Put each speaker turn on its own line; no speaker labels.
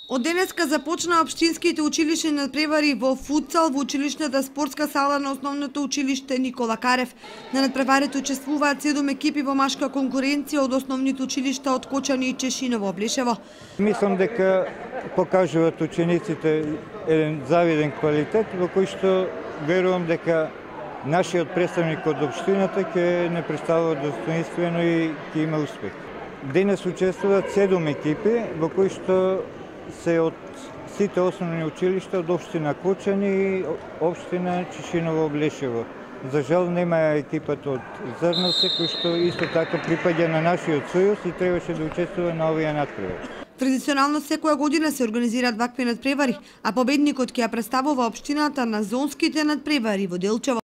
Од денеска започна општинските училишни надпревари во футсал во училишната спортска сала на основното училиште Никола Карев. На надпреварите учествуваат 7 екипи во машка конкуренција од основните училишта од Кочани и Чешиново, Облешево.
Мислам дека покажуваат учениците еден завиден квалитет во кој што верувам дека нашиот представник од општината ќе не представува достоинствено и ќе има успех. Денес учествуваат 7 екипи во кои што се од сите основни училишта од општина Кочани и општина Чешиново, Облешево. За жал нема екипата од Зрновце кој што исто така припаѓа на нашиот сојуз и требаше да учествува на овие надпревари.
Традиционално секоја година се организираат вакви надпревари, а победникот ќе ја представува општината на зонските надпревари во Делчево.